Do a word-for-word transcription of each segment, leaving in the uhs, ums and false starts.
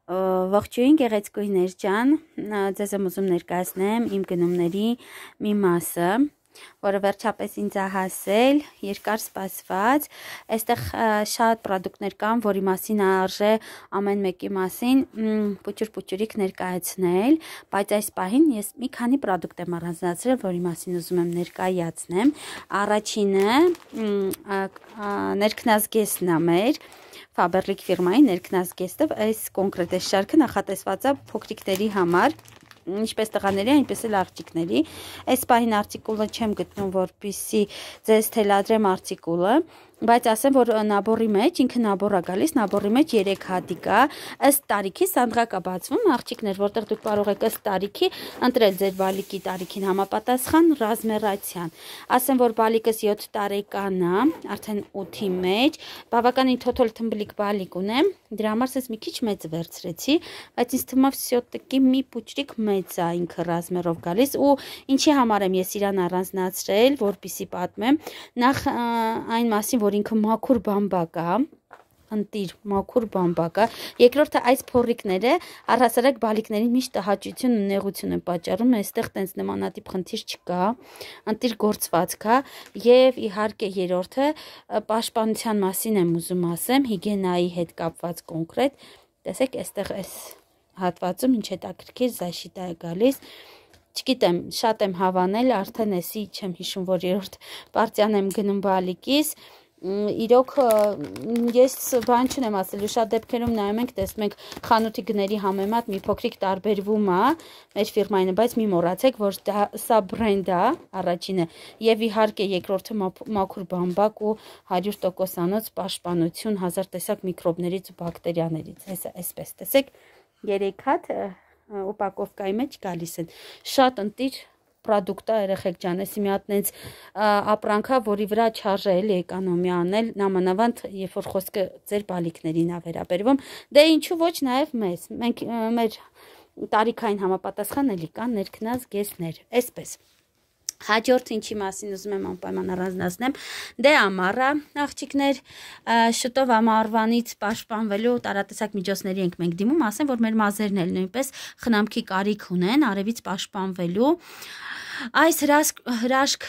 Ողջույն գեղեցկուհիներ ջան, ձեզ եմ ուզում ներկայացնեմ իմ գնումների մի մասը, որը վերջապես ինձ է հասել, երկար սպասված, այստեղ շատ պրոդուկտներ կան, որի մասին արժե ամեն մեկի մասին փուչուր-փուչուրիկ ներկայացնել, բայց այս պահին ես մի քանի պրոդուկտ եմ առանձնացրել, որի մասին ուզում եմ ներկայացնեմ։ Առաջինը ներքնազգեստն է մեր Faberlic ֆիրմայի ներքնազգեստը, այս կոնկրետ այս շարքը նախատեսված է փոքրիկների համար, ինչպես տղաների, այնպես էլ աղջիկների։ Այս պահին արտիկուլը չեմ գտնում, որպեսզի ձեզ թելադրեմ արտիկուլը, բայց ասեմ, որ նաբորի մեջ, ինքը նաբոր է գալիս, նաբորի մեջ երեք հատիկ է, ըստ տարիքի սանդղակ է բացվում, աղջիկներ, որտեղ դուք կարող եք ըստ տարիքի ընտրել ձեր բալիկի տարիքին համապատասխան ռազմերացիան։ Ասեմ, որ բալիկս յոթ տարեկան է, արդեն ութի մեջ, բավականին թոթոլ թմբլիկ բալիկ ունեմ, դրա համար ես մի քիչ մեծ վերցրեցի, բայց ինձ թվում է всё-таки մի փուչրիկ մեծ է ինքը ռազմերով գալիս ու ինչի համար եմ ես իրան առանձնացրել, որպեսզի պատմեմ, նախ այն մասին, որ ինքը մաքուր բամբակ է, ընտիր մաքուր բամբակ է, երկրորդը այս փոռիկները առհասարակ բալիկներին միշտ տհաճություն ու նեղություն են պատճառում, այստեղ տենց նմանատիպ խնդիր չկա, ընտիր գործվածք է, եւ իհարկե երրորդը պաշտպանության մասին եմ ուզում ասեմ, հիգիենայի հետ կապված կոնկրետ, տեսեք, այստեղ այս հատվածում ինչ հետաքրքիր զաշիտա է գալիս, չգիտեմ, շատ եմ հավանել, արդեն էսի չեմ հիշում, որ երրորդ պարտիան եմ գնում բալիկիս, իրոք ես բան չունեմ ասելու, շատ դեպքերում նայում ենք, տեսնում ենք խանութի գների համեմատ մի փոքրիկ տարբերվում է մեր ֆիրմային, բայց մի մոռացեք, որ դա սա բրենդ է, առաջինը, եւ իհարկե երկրորդը մաքուր բամբակ ու հարյուր տոկոսանոց պաշտպանություն հազար տեսակ միկրոբներից ու բակտերիաներից, այսպես տեսեք, երեք հատ ուպակովկայի մեջ գալիս են, շատ ընտիր պրոդուկտ է, երեխեք ջան, էսի մի հատ նենց ապրանքա, որի վրա չարժե էլի էկոնոմիա անել, նամանավանդ, երբ որ խոսքը ձեր բալիկներին է վերաբերվում, դե ինչու ոչ նաև մեզ, մենք մեր տարիքային համապատասխան էլի կան ներքնազգեստներ, այսպես։ Հաջորդ ինչի մասին ուզում եմ անպայման առանձնացնեմ, դե ամառը աղջիկներ, շուտով ամառվանից պաշտպանվելու տարատեսակ միջոցների ենք մենք դիմում, ասեմ, որ մեր մազերն էլ նույնպես խնամքի կարիք ունեն, արևից պաշտպանվելու։ Այս հրաշք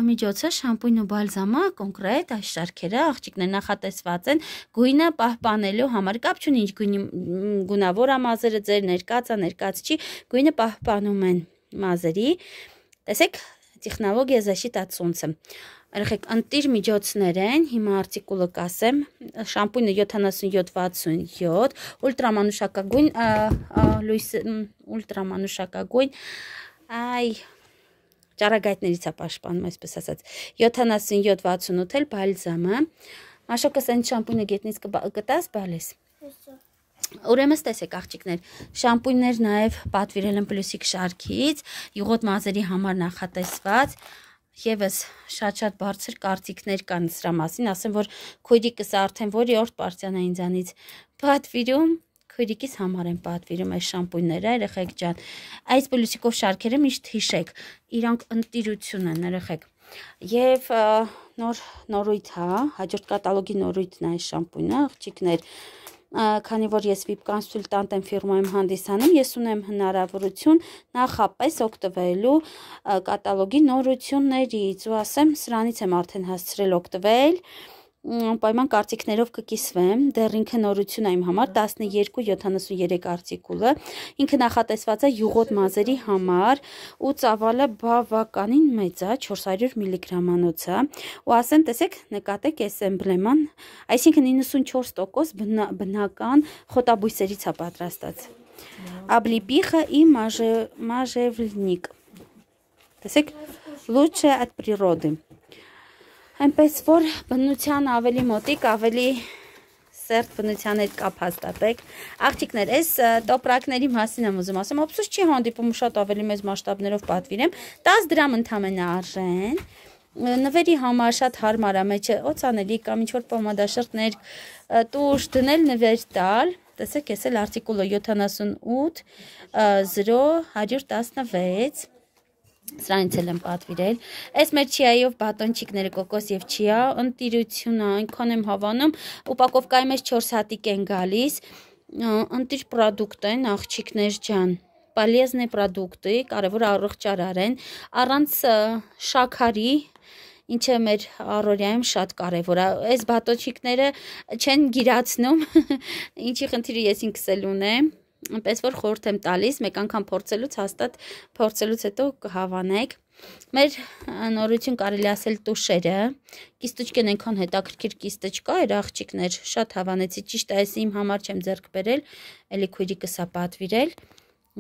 միջոցը շամպույն ու բալզամը կոնկրետ այս շարքերը աղջիկներ նախատեսված են գույնը պահպանելու համար, կապ չունի ինչ գույնի գունավոր է մազերը ձեր ներկածա, ներկած չի, գույնը պահպանում են մազերի, տեսեք, տեխնոլոգիա защита от солнца։ Երեխեք, ընտիր միջոցներ են, հիմա արտիկուլը կասեմ, շամպույնը յոթանասունյոթ վաթսունյոթ, ուլտրամանուշակագույն, լույս ուլտրամանուշակագույն, այ ճառագայթներից է պաշտպանում, այսպես ասած, յոթանասունյոթ վաթսունութ էլ բալզամը, մաշոկս այն շամպույնը գետնից կտաս բալես։ Ուրեմն տեսեք աղջիկներ, շամպույններ նաև պատվիրել եմ պլյուսիկ շարքից, յուղոտ մազերի համար նախատեսված, եւս շատ-շատ բարձր կարծիքներ կան սրա մասին, ասեմ, որ քույրիկս արդեն որի-օրդ պարտիան է ինձանից պատվիրում, քույրիկիս համար եմ պատվիրում այս շամպույնները, երեխեք ջան, այս պլյուսիկով շարքերը միշտ հիշեք, իրանք ընտիրություն են, երեխեք, եւ նոր նորույթ է, հաջորդ կատալոգի նորույթն է այս շամպույնը, աղջիկներ, քանի որ ես վիպ կոնսուլտանտ եմ ֆիրմայում հանդիսանում, ես ունեմ հնարավորություն նախապես օգտվելու կատալոգի նորություններից ու ասեմ, սրանից եմ արդեն հասցրել օգտվել, անպայման կարծիքներով կկիսվեմ, դեռ ինքը նորություն է իմ համար, տասնյոթ յոթանասունյոթ արտիկուլը, ինքը նախատեսված է յուղոտ մազերի համար ու ծավալը բավականին մեծ է, չորս հարյուր միլիգրամանոց է, ու ասեմ, տեսեք, նկատեք այս էմբլեման, այսինքն իննսունչորս տոկոս բնական խոտաբույսերից է պատրաստած։ Облепиха и можжевельник, տեսեք, лучше от природы։ Այնպես որ բնության ավելի մոտիկ, ավելի սերտ բնության հետ կապ հաստատեք։ Աղջիկներ, այս տոպրակների մասին եմ ուզում ասեմ, ափսոս չի հանդիպում շատ ավելի մեծ մասշտաբներով պատվիրեմ, տասը դրամ ընդամենը արժեն։ Նվերի համար շատ հարմար է, մեջը օծանելի կամ ինչ-որ պոմադաշերտներ տուշ դնել նվեր տալ, տեսեք, ես էլ արտիկուլը յոթանասունութ զրո հարյուր տասնվեց Սրանից էլ եմ պատվիրել։ Այս մեր չիայով բատոնչիկները կոկոս եւ չիա, ընտիրությունը այնքան եմ հավանում, ուպակովկայի մեջ չորս հատիկ են գալիս, ընտիր պրոդուկտ են, աղջիկներ ջան, պալեզնե պրոդուկտի, կարևոր առողջարար են, առանց շաքարի, ինչը մեր առօրյայում շատ կարևոր է, այս բատոչիկները չեն գիրացնում, ինչի խնդիրը ես ինքս էլ ունեմ, այնպես որ խորհուրդ եմ տալիս, մեկ անգամ փորձելուց հաստատ փորձելուց հետո կհավանեք։ Մեր նորություն կարելի ասել տուշերը, կիստուճկեն այնքան հետաքրքիր կիստուճկա էր աղջիկներ, շատ հավանեցի, ճիշտ է, այս իմ համար չեմ ձեռք բերել, էլի քույրիկս է պատվիրել,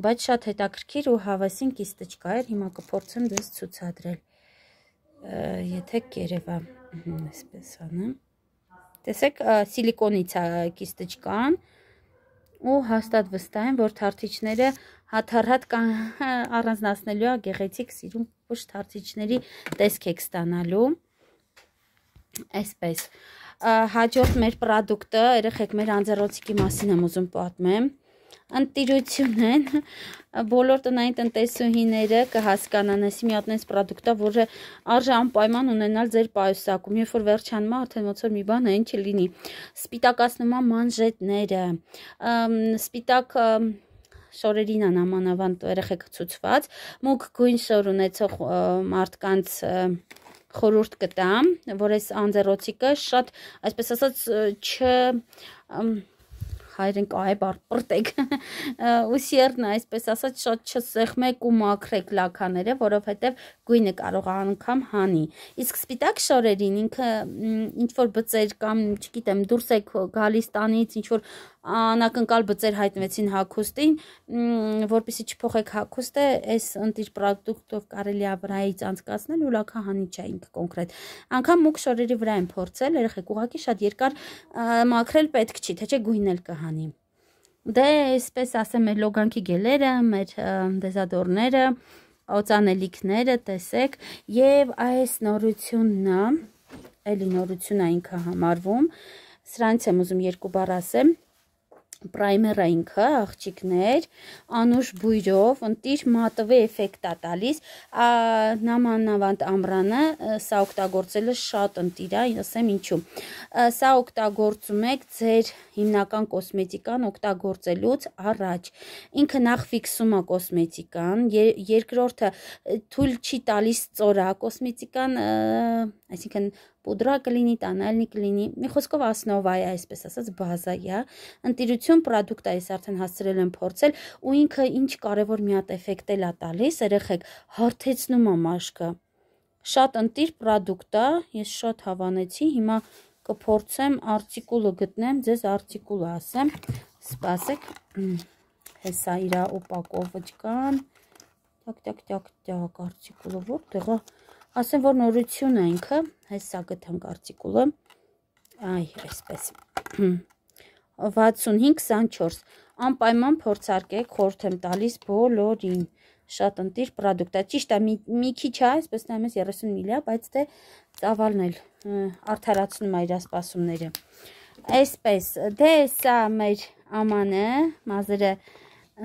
բայց շատ հետաքրքիր ու հավասին կիստուճկա էր, հիմա կփորձեմ դες ցուցադրել, եթե կերևա, այսպես անեմ, տեսեք, սիլիկոնից է կիստուճկան, ու հաստատ վստահ եմ, որ թարթիչները հաթառհատ առանձնացնելու է գեղեցիկ սիրուն պուշ թարթիչների տեսք եք ստանալու, այսպես, հաջորդ մեր պրոդուկտը, երեխեք մեր անձեռոցիկի մասին եմ ուզում պատմեմ, ընտիրություն են, բոլոր տնային տնտեսուհիները կհասկանան այսի մի հատ այս պրոդուկտը, որը արժե անպայման ունենալ ձեր պայուսակում, երբ որ վերջանում է, արդեն ոնց որ մի բան այն չլինի, սպիտակացնում է մանժետները, սպիտակ շորերին են ամանավանդ երեխեք ցուցված, մուգ գույն շոր ունեցող մարդկանց խորհուրդ կտամ, որ այս անձեռոցիկը շատ, այսպես ասած, չ հայրեն կայ բարպրտեք ու սերն այսպես ասած շատ չսեղմեք ու մաքրեք լաքաները, որովհետև գույնը կարող է անգամ հանի։ Իսկ սպիտակ շորերին ինքը ինչ որ բծեր կամ չգիտեմ դուրս եք գալիս տանից ինչ որ անակնկալ բծեր հայտնվեցին հագուստին, որպեսզի չփոխեք հագուստը, այս ընտիր պրոդուկտով կարելի է վրայից անցկացնել ու լաքահանի չէ ինքը կոնկրետ։ Անգամ մուգ շորերի վրա եմ փորձել, երեխեք ուղղակի շատ երկար մաքրել պետք չի, թե չէ գույն էլ կհանի։ Դե այսպես ասեմ մեր լոգանքի գելերը, մեր դեզադորները, օծանելիքները, տեսեք, եւ այս նորությունն է, էլի նորություն է ինքը համարվում, սրանից եմ ուզում երկու բառ ասեմ, պրայմերը ինքը, աղջիկներ, անուշ բույրով, ընտիր մատվե էֆեկտ է տալիս, նամանավանդ ամրանը, սա օգտագործելը շատ ընտիր է, ասեմ ինչու, սա օգտագործում եք ձեր հիմնական կոսմետիկան օգտագործելուց առաջ, ինքը նախ ֆիքսում է կոսմետիկան, երկրորդը թույլ չի տալիս ծորա, կոսմետիկան, այսինքն պուդրա կլինի, տանալնի կլինի, մի խոսքով ասնովա է, այսպես ասած բազա է, ընտիրություն պրոդուկտ է, ես արդեն հասցրել եմ փորձել, ու ինքը ինչ կարևոր մի հատ էֆեկտ էլ է տալիս, երեխեք, հարթեցնում է մաշկը, շատ ընտիր պրոդուկտ է, ես շատ հավանեցի, հիմա կփորձեմ արտիկուլը գտնեմ, ձեզ արտիկուլը ասեմ, սպասեք, հեսա իրա օպակովոջկան, տակ, տակ, տակ, տակ, արտիկուլը որտեղ է, ասեմ, որ նորություն է ինքը, հեսա գտանք արտիկուլը, այ, այսպես, վաթսունհինգ քսանչորս, անպայման փորձարկեք, խորհուրդ եմ տալիս բոլորին, շատ ընտիր պրոդուկտ է, ճիշտ է, մի քիչ է, այսպես նայում ես երեսուն միլի է, բայց դե ծավալն էլ արդարացնում է իր սպասումները, այսպես, դե սա մեր ամանը, մազերը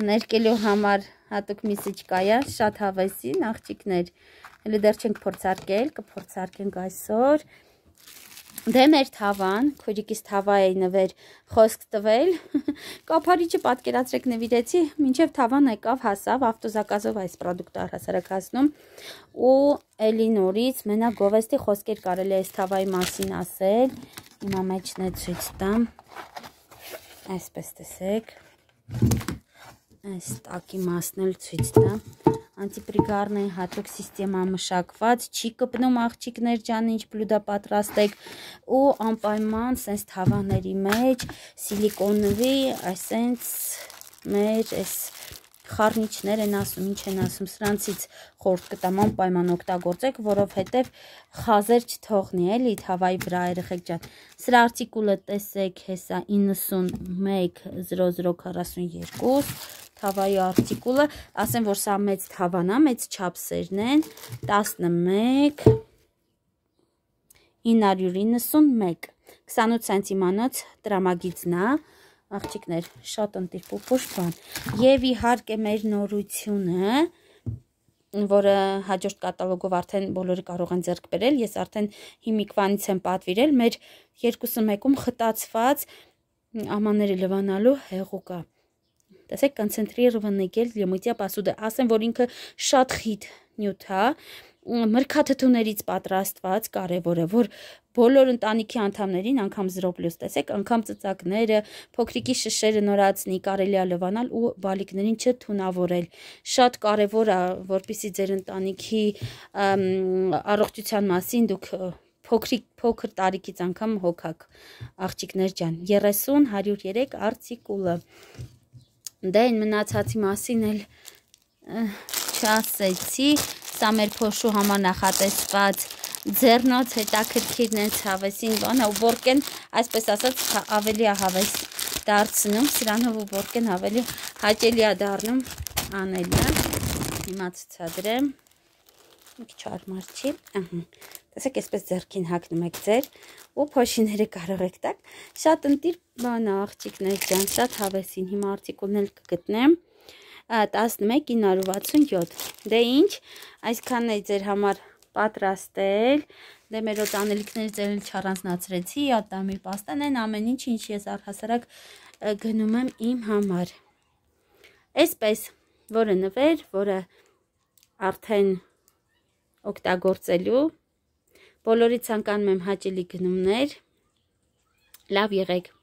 ներկելու համար հատուկ միսիչկա է, շատ հավեսին, աղջիկներ, հələ դեռ չենք փորձարկել, կփորձարկենք այսօր, դե մեր թավան, քույրիկիս թավա էի նվեր խոսք տվել, կափարիչը պատկերացրեք նվիրեցի, մինչև թավան եկավ հասավ, ավտոզակազով այս պրոդուկտը առհասարակ հասնում, ու էլի նորից մենակ գովեստի խոսքեր կարելի այս թավայի մասին ասել, հիմա մեջն է ցույց տամ, այսպես տեսեք, այս տակի մասն էլ ցույց տամ, անտիպրիգարն է հատուկ սիստեմա մշակված, չի կպնում աղջիկներ ջան, ինչ բլուդա պատրաստեք ու անպայման սենց թավաների մեջ սիլիկոնվի, այսենց մեր այս խառնիչներ են ասում, ինչ են ասում, սրանցից խորհուրդ կտամ անպայման օգտագործեք, որովհետև խազեր չթողնի էլի թավայի վրա երեխեք ջան, սրա արտիկուլը տեսեք հեսա իննսունմեկ զրո զրո քառասունյոթ թավայի արտիկուլը, ասեմ, որ սա մեծ թավան է, մեծ չափսերն են, տասնմեկ, ինը հարյուր իննսունմեկ, քսանութ սենտիմանոց տրամագիծն է, աղջիկներ, շատ ընտիր պուպուշ բան, և իհարկե մեր նորությունը, որը հաջորդ կատալոգով արդեն բոլորը կարող են ձեռք բերել, ես արդեն հիմիկվանից եմ պատվիրել, մեր երկուսը մեկում խտացված ամանները լվանալու հեղուկա։ Տեսեք, կոնցենտրիրованный գել լյումիտյա պասուդը, ասեմ, որ ինքը շատ խիտ նյութ է, մրգաթթուներից պատրաստված, կարևոր է, որ բոլոր ընտանիքի անդամներին, անգամ զրո պլյուս, տեսեք, անգամ ծծակները, փոքրիկի շշերը նորացնի, կարելի է լվանալ ու բալիկներին չթունավորել։ Շատ կարևոր է, որպեսզի ձեր ընտանիքի առողջության մասին դուք փոքրիկ փոքր տարիքից անգամ հոգաք, աղջիկներ ջան, երեսուն հարյուր երեք արտիկուլը։ Դե այն մնացածի մասին էլ չասեցի, սա մեր փոշու համար նախատեսված ձեռնոց հետաքրքիրն է հավեսին բանը, ու որքեն, այսպես ասած, ավելի է հավես դարձնում, սրանով ու որքեն ավելի հաճելի է դառնում անելը։ Հիմա ցուցադրեմ, մի քիչ արմար չի, տեսեք, այսպես ձեռքին հագնում եք ձեր ու փոշիները կարող եք տակ, շատ ընտիր բան է աղջիկներ ջան, շատ հավեսին, հիմա արտիկուլն էլ կգտնեմ, տասնմեկ ինը հարյուր վաթսունյոթ, դե ինչ, այսքանն է ձեր համար պատրաստել, դե մեր ոտ անելիքների ձեր էլ չառանձնացրեցի, ատամի պաստան են ամեն ինչ, ինչ ես առհասարակ գնում եմ իմ համար, այսպես, որը նվեր, որը արդեն օգտագործելու, բոլորի ցանկանում եմ հաճելի գնումներ, լավ եղեք։